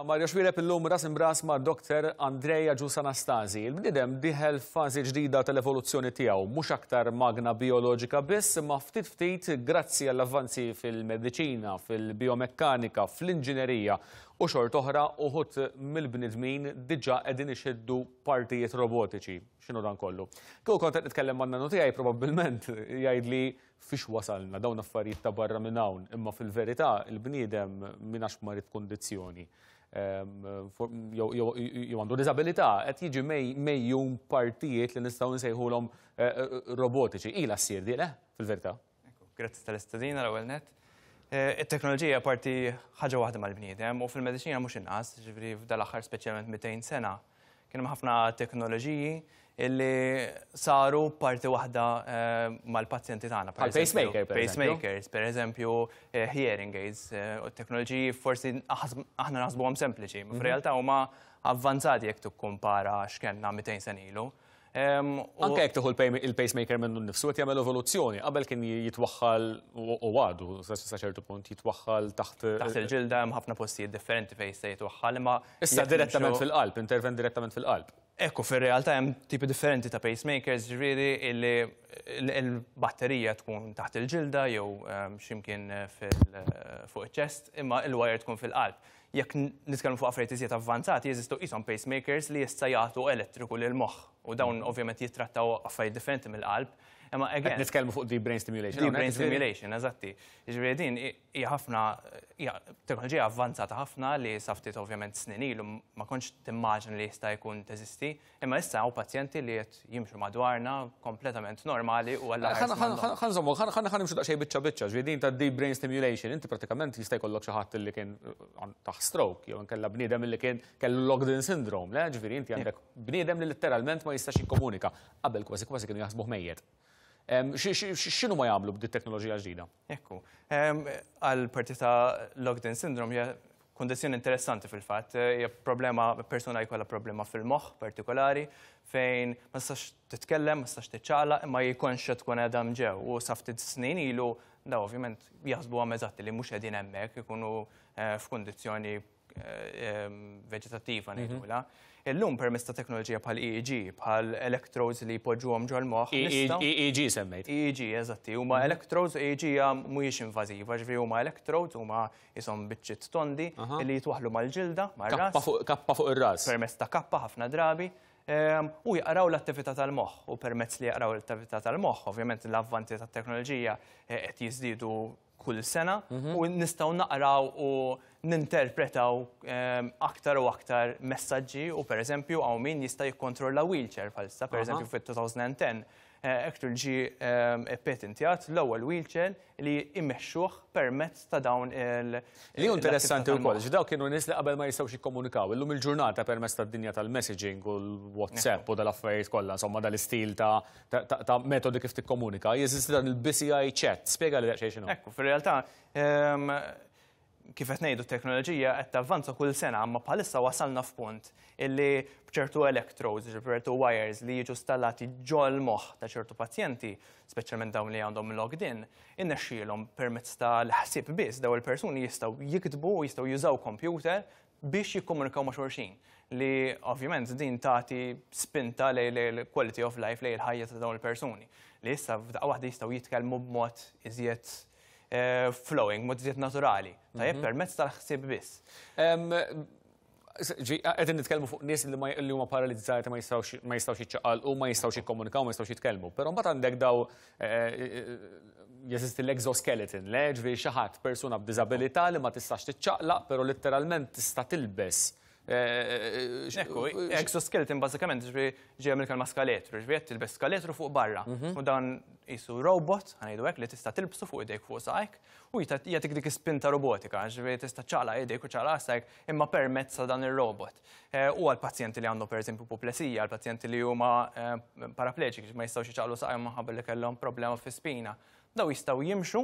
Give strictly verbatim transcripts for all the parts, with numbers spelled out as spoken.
Ta' Mario Xuereb illum ras imbras ma' Doktor Andrea Agius Anastasi. Il-bniedem dieħel fażi ġdida tal-evoluzzjoni tiegħu, mhux aktar magna bioloġika biss, imma ftit ftit grazzi għall-avvanzi fil-mediċina, fil-biomekkanika, fl-inġinerija u xort oħra uħud mill-bnedmin diġà qegħdin ixiddu partijiet robotiċi. X'inhu dan kollu? Kieku kont qed nitkellem man-nanu tiegħi, probabbilment jgħidli fiex wasalna, dawn affarijiet ta' barra minn hawn, imma fil-verità il-bniedem minn għax marid kundizzjoni jew għandu diżabilità qed jiġi mejjum partijiet li nistgħu nsejħulhom eh, eh, robotiċi. Ila ssir di, le, fil-verità? Grazzi tal-istedina l-ewwel net. Eh, it-teknoloġija parti ħaġa waħda mal-bniedem u fil-mediċina mhux inqas, ġifieri f'dal-aħħar speċjalment mitejn sena kien hemm ħafna teknoloġiji illi saru parti waħda eh, mal-pazjenti tagħna. Bħal pacemaker, per eżempju. Pacemakers, per eżempju, eh, hearing aids, eh, u teknoloġiji forsi aħna naħsbuhom sempliċi, ma f'realtà huma avvanzati jekk tikkumpara x'kellna mitejn sena ilu. Em, u- Anke jekk tieħu il-pacemaker minnu nnifsu qed jagħmel evoluzzjoni. Qabel kien jitwaħħal u u għadu sa sa ċertu punt jitwaħħal taħt Taħt il-ġilda. Hemm ħafna postijiet differenti fejn jista' jitwaħħal, imma Issa jekk direttament nimxu- fil-qalb, intervent direttament fil-qalb. Ekku, fil-realtà hemm tipi differenti ta' pacemakers, ġifieri illi il-batterija tkun taħt il-ġilda jew ehm, x'imkien fil- fuq iċ-chest, imma il-wire tkun fil-qalb. Jekk nitkellmu fuq affarijiet iżjed avvanzati, jeżistu qishom pacemakers li jista' jagħtu elettriku lil moħħ u dawn ovvjament jittrattaw affarijiet differenti mill-qalb. Imma Qed again, nitkellmu fuq deep brain stimulation. Deep hawnhekk, brain ġifieri? stimulation, eżatti. Ġifieri din hija ħafna, hija teknoloġija avvanzata ħafna li sa ftit ovvjament snin ilu ma kontx timmaġina li jista' jkun teżisti, imma issa hawn pazjenti li qed jimxu madwarna kompletament normali u għalla Ħa nżommu, ħa nimxu daqsxejn biċċa biċċa, ġifieri din ta' deep brain stimulation, inti pratikament jista' jkollok xi ħadd li kien taħ stroke, jew nkella bniedem li kien kellu locked-in syndrome, le, ġifieri inti għandek bniedem li letteralment ma jistax jikkomunika. Qabel kważi kważi kienu jaħsbuh mejjet. X'inhu ma jagħmlu b'di teknoloġija ġdida? Ekku, għal parti ta' locked-in syndrome hija kondizzjoni interessanti fil-fatt, hija problema, persuna jkollha problema fil-moħħ partikolari fejn ma tistax titkellem, ma tistax tiċċaqlaq, imma jkonx tkun qiegħda ġew u sa ftit snin ilu da ovvjament jaħsbu għam eżatti li mhux qegħdin hemmhekk, ikunu eh, f'kundizzjoni eh, veġetattiva ngħidulha. Illum permezz ta' teknoloġija bħal E E G, bħal electrodes li jpoġġuhom ġol-moħħ. nistgħu- E E G semmejt. E E G, eżatti, huma electrodes, E E G hija mhijiex invażiva, ġifieri huma electrodes, huma qishom biċċiet tondi li jitwaħlu mal-ġilda, mar-ras, Kappa fuq kappa fuq ir-ras. Permezz ta' kappa ħafna drabi, ehm, u jaqraw l-attività tal-moħħ u permezz li jaqraw l-attività tal-moħħ, ovvjament l-avvanti tat-teknoloġija eh, qed jiżdiedu kull sena u nistgħu naqraw u ninterpretaw ehm, aktar u aktar messaġġi u per eżempju hawn min jista' jikkontrolla wheelchair bħalissa, per eżempju fit-elfejn u għaxra actually ġi ehm, patentjat l-ewwel wheelchair li immexxuh permezz ta' dawn il- Li hu interessanti l-attività wkoll, tal-moħħ. X'daw kienu nies li qabel ma jistgħux jikkomunikaw. Illum il-ġurnata permezz tad-dinja tal-messaging u l-WhatsApp u dal-affarijiet kollha, insomma dal-istil ta' ta' ta' metodi kif tikkomunika, jeżisti dan il-B C I chat. Spjega li daqsxejn x'inhu. Ekku, fil-realtà, ehm, kif qed ngħidu, t-teknoloġija qed tavvanza kull sena, imma bħalissa wasalna f'punt illi b'ċertu electrodes, ċertu wires li jiġu installati ġol moħħ ta' ċertu pazjenti, speċjalment dawn li għandhom locked in, innexxielhom permezz tal-ħsieb biss daw il-persuni jistgħu jiktbu u jistgħu jużaw computer biex jikkomunikaw ma' xulxin. Li ovvjament din tagħti spinta lejn il-quality of life, lejn il-ħajja ta' dawn il-persuni. Li issa f'daqqa waħda jistgħu jitkellmu b'mod iżjed eh, flowing, mod iżjed naturali. Tajjeb, permezz tal-ħsieb biss. Qegħdin nitkellmu fuq nies li ma- li huma paralizzati, ma jistgħux ma jistgħux jiċċaqalqu, ma jistgħux jikkomunikaw, ma jistgħux jitkellmu. Però mbagħad għandek daw eh, eh, jeżisti l-exoskeleton, le, ġifieri xi ħadd, persuna b'diżabilità li ma tistax tiċċaqlaq, però letteralment tista' tilbes. eh, Ekku, exoskeleton bażikament ġifieri ġej mill-kelma skaletru, ġifieri qed tilbes skaletru fuq barra. U dan qisu robot, ħa ngħidu hekk, li tista' tilbsu fuq idejk, fuq saqajk u jita- jagħtik dik ispinta robotika, ġifieri tista' ċaqlaq idejk u ċaqlaq saqajk imma permezz ta' dan ir-robot. Eh, U għal pazjenti li għandhom pereżempju puplesija, għal pazjenti li huma eh, parapleġiċi, ma jistgħux jiċaqlu saqajhom minħabba li kellhom problema fi spina. Daw jistgħu jimxu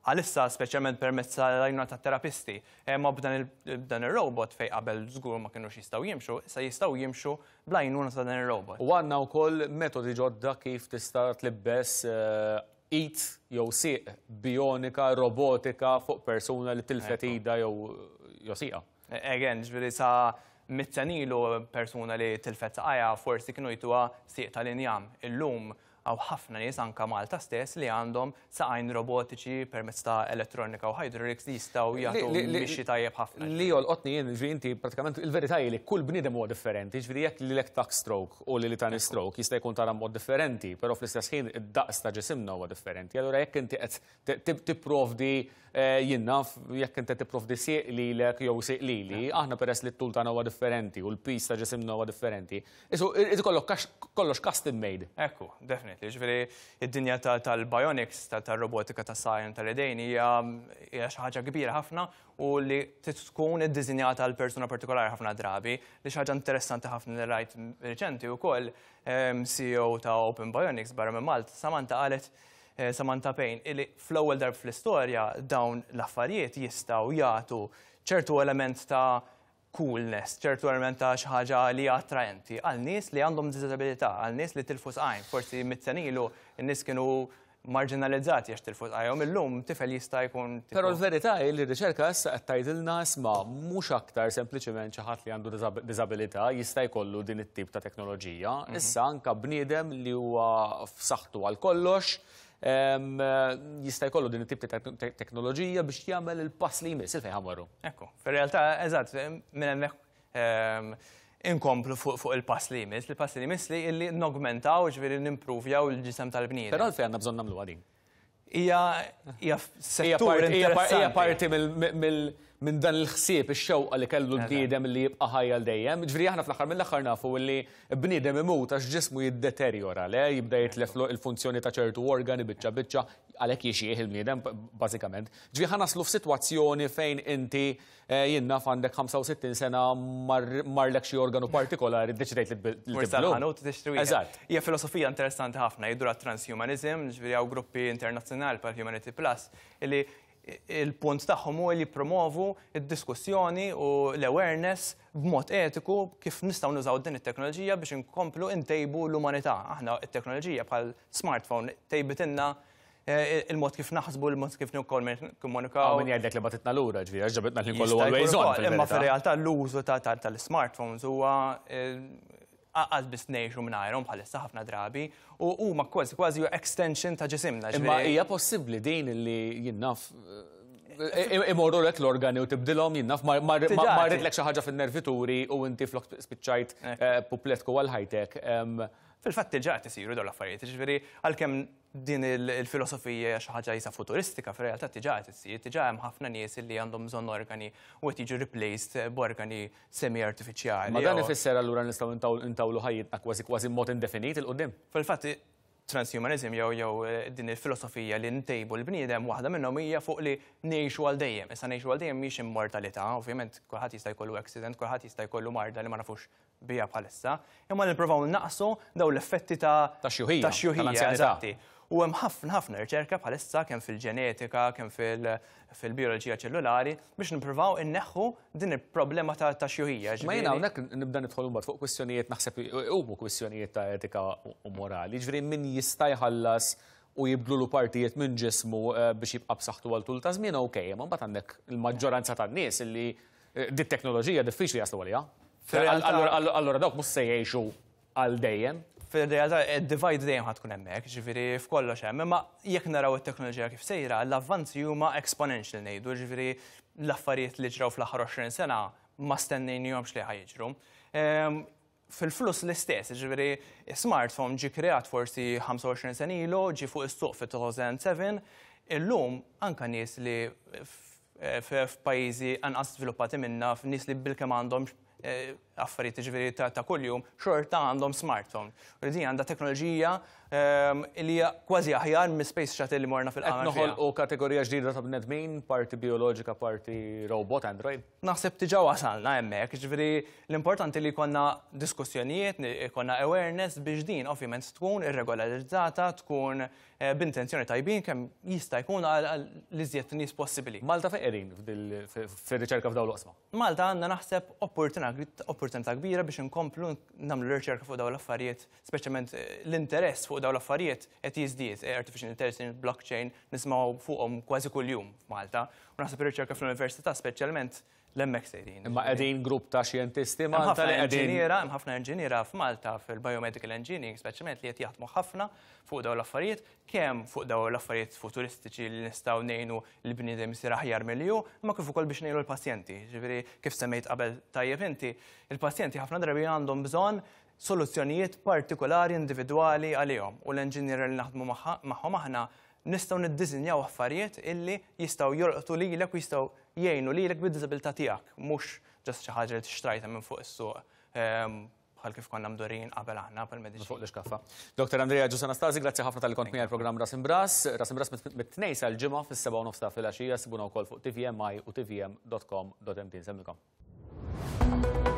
għalissa speċjalment permezz tal-għajnuna ta' terapisti, ma b'dan il- b'dan il-robot fej qabel żgur ma kienux jistgħu jimxu, issa jistgħu jimxu bl-għajnuna ta' dan il-robot. U għandna wkoll metodi ġodda kif tista' tlibbes eh, id jew sieq bionika, robotika fuq persuna li tilfet ida jew jew sieqa. Again, ġifieri sa mitt sena ilu persuna li tilfet saqajha forsi kienu jtuha sieq tal-injam. Illum hawn ħafna nies, anka Malta stess, li għandhom saqajn robotiċi permezz ta' elettronika u hydraulics li jistgħu jagħtu mixi tajjeb ħafna. Li jolqotni jien, ġifieri inti pratikament il-verità hi li kull bniedem huwa differenti, ġifieri jekk lilek tak stroke u li li tani stroke jista' jkun tara mod differenti, però fl-istess ħin id-daqs ta' ġisimna huwa differenti. Allura jekk inti qed tipprovdi, jien naf, jekk inti tipprovdi sieq lilek jew sieq lili, aħna peress li t-tul tagħna huwa differenti u l-pis ta' ġisimna huwa differenti. Isu ikollok kollox custom made. Ekku, definitely. Ġifieri id-dinja tal-bionics, tal-robotika tas-saqajn tal-idejn hija xi ħaġa kbira ħafna u li tkun iddisinjata għal persuna partikolari ħafna drabi. Li xi ħaġa interessanti ħafna li rajt reċenti wkoll, C E O ta' Open Bionics barra minn Malta, Samantha qalet, Samantha Payne, illi fl-ewwel darb fl-istorja dawn l-affarijiet jistgħu jagħtu ċertu element ta' coolness, ċertu element ta' xi ħaġa li attraenti għal nies li għandhom disabilità, għal nies li tilfu saqajn. Forsi mitt sena ilu n-nies kienu marginalizzati għax tilfu saqajhom, illum tifel jista' jkun. Però l-verità hi li r-riċerka issa qed tgħidilna, isma', mhux aktar sempliċement xi ħadd li għandu diżabilità jista' jkollu din it-tip ta' teknoloġija. Mhm. Issa anka bniedem li huwa f'saħħtu għal kollox jista' jkollu din it-tip ta' teknoloġija biex jagħmel il-pass li jmiss il fejn ħa mmorru. Ekku, fir-realtà, eżatt, minn hemmhekk inkomplu fuq il-pass li jmiss, il-pass li jmiss li illi nogmentaw, ġifieri nimpruvjaw il-ġisem tal-bniedem. Però għalfejn għandna bżonn nagħmlu din? Hija hija settur. Hija parti minn dan il-ħsieb, ix-xewqa li kellu l-bniedem li jibqa' ħajja l dejjem. Ġifieri aħna fl-aħħar mill-aħħar nafu li bniedem imut għax ġismu jiddeterjora, le jibda jitlef il-funzjoni ta' ċertu organi biċċa biċċa, għalhekk jixjieħ il-bniedem bażikament. Ġifieri ħa naslu f'sitwazzjoni fejn inti, jien naf, għandek ħamsa u sittin sena, marlek xi organu partikolari, deċidejt li tibdlu. Eżatt. Hija filosofija interessanti ħafna, jgħidu transhumanism, ġifieri hawn gruppi internazzjonali bħal Humanity Plus, illi il-punt tagħhom hu li jippromovu id-diskussjoni u l-awareness b'mod etiku kif nistgħu nużaw din it-teknoloġija biex inkomplu ntejbu l-umanità. Aħna it-teknoloġija bħal smartphone tejbitilna eh, il-mod kif naħsbu, il-mod kif nikkomunikaw. Min jgħidlek li bagħtitna lura, ġifieri, għax ġabitna l kollu always on. Imma fir-realtà l-użu tal-smartphones huwa eh, għal biss ngħixu mingħajrhom bħalissa ħafna drabi u huma kważi kważi extension ta' ġisimna. Imma hija possibbli din li, jien naf, imorru lek l-organi u tibdilhom, jien naf, marritlek xi ħaġa fin-nervituri u inti flok spiċċajt eh, pupletku għal ħajtek? Fil-fatt diġà qed isiru dawn l-affarijiet, ġifieri għalkemm din il-filosofija xi ħaġa jisa futuristika, fir-realtà diġà qed issir, diġà hemm ħafna nies li għandhom bżonn organi u qed jiġu replaced b'organi semi-artifiċjali. Ma dan ifisser allura nistgħu intawlu ħajjitna kważi kważi mod indefinit 'il quddiem? Fil-fatt transhumanism jew jew eh, din il-filosofija li ntejbu l-bniedem, waħda minnhom hija fuq li ngħixu għal dejjem. Issa ngħixu għal dejjem mhix immortalità, ovvjament kulħadd jista' jkollu accident, kulħadd jista' jkollu marda li ma nafux biha bħalissa, imma nippruvaw naqsu daw l-effetti ta' ta' xjuħija, ta' xjuħija, tal-anzjanità. Eżatti. U hemm ħafna ħafna riċerka bħalissa kemm fil-ġenetika, kemm fil-bioloġija ċellulari biex nippruvaw inneħħu din il-problema ta' ta' xjuħija. Ma jiena hawnhekk nibda nidħol mbagħad fuq kwistjonijiet, naħseb huma kwistjonijiet ta' etika u morali. Ġifieri min jista' jħallas u jibdlu partijiet minn ġismu eh, biex jibqa' b'saħħtu għal tul ta' żmien, okej, imma mbagħad għandek il-maġġoranza tan-nies illi eh, dit teknoloġija diffiċli jaslu għaliha. Fir-realtà- Allura allura dawk mhux se jgħixu għal dejjem. Fil-realtà, id-divide dejjem ħa tkun hemmhekk, ġifieri f'kollox hemm, imma jekk naraw it-teknoloġija kif sejra, l-avvanzi huma exponential ngħidu, ġifieri l-affarijiet li ġraw fl-aħħar għoxrin sena ma stennejnihomx li ħa jiġru. Ehm, Fil-flus l-istess, ġifieri smartphone ġi kreat forsi ħamsa u għoxrin sena ilu, ġi fuq is-suq fit-elfejn u sebgħa, illum anka nies li f'pajjiżi anqas sviluppati minna, f'nies li bilkemm għandhom eh, affarijiet ġifieri ta' ta' kuljum, xorta għandhom smartphone. U din għandha teknoloġija ehm, li hija kważi aħjar minn space shuttle li morna Qed fil-qamar fiha. noħolqu kategorija ġdida ta' bnedmin, parti bioloġika, parti robot, android. Naħseb diġà wasalna hemmhekk, ġifieri l-importanti li jkollna diskussjonijiet, jkollna awareness biex din ovvjament tkun irregolarizzata, tkun eh, b'intenzjoni tajbin kemm jista' jkun għal għal l-iżjed nies possibbli. Malta fejn qegħdin f'dil- fir-riċerka f'dawn l-oqsma? Malta għandna naħseb opportunità opportunità kbira biex inkomplu nagħmlu riċerka fuq dawn l-affarijiet, speċjalment eh, l-interess fuq dawn l-affarijiet qed jiżdied, eh, artificial intelligence, blockchain, nismgħu fuqhom kważi kuljum f'Malta. U naħseb ir-riċerka fl-università speċjalment L-hemmhekk sejrin. Imma qegħdin grupp ta' xjentisti Malta li qegħdin. Hemm ħafna inġiniera f'Malta fil-biomedical engineering, speċjalment, li qed jaħdmu ħafna fuq dawn l-affarijiet, kemm fuq dawn l-affarijiet futuristiċi li nistgħu ngħinu l-bniedem isir aħjar milli hu, imma kif ukoll biex ngħinu l-pazjenti. Ġifieri, kif semmejt qabel tajjeb inti, il-pazjenti ħafna drabi għandhom bżonn soluzzjonijiet partikolari, individwali għalihom, u l-engineer li naħdmu magħhom aħna nistgħu niddisinjaw affarijiet illi jistgħu jolqtu lilek u jistgħu jgħinu lilek bid-diżabilità tiegħek, mhux just xi ħaġa li tixtrajta minn fuq is-suq ehm, bħal kif konna mdorrijin qabel aħna bħal-mediċina. Fuq l-iskaffa. Doktor Andrea Agius Anastasi, grazzi ħafna talli kont miegħi l-programm Ras Imb'Ras. Ras Imb'Ras mit-Tnejn sal-Ġimgħa fis-sebgħa u nofs ta' filgħaxija, sibuna wkoll fuq T V M I u T V M dot com dot M T. Nsellmilkom.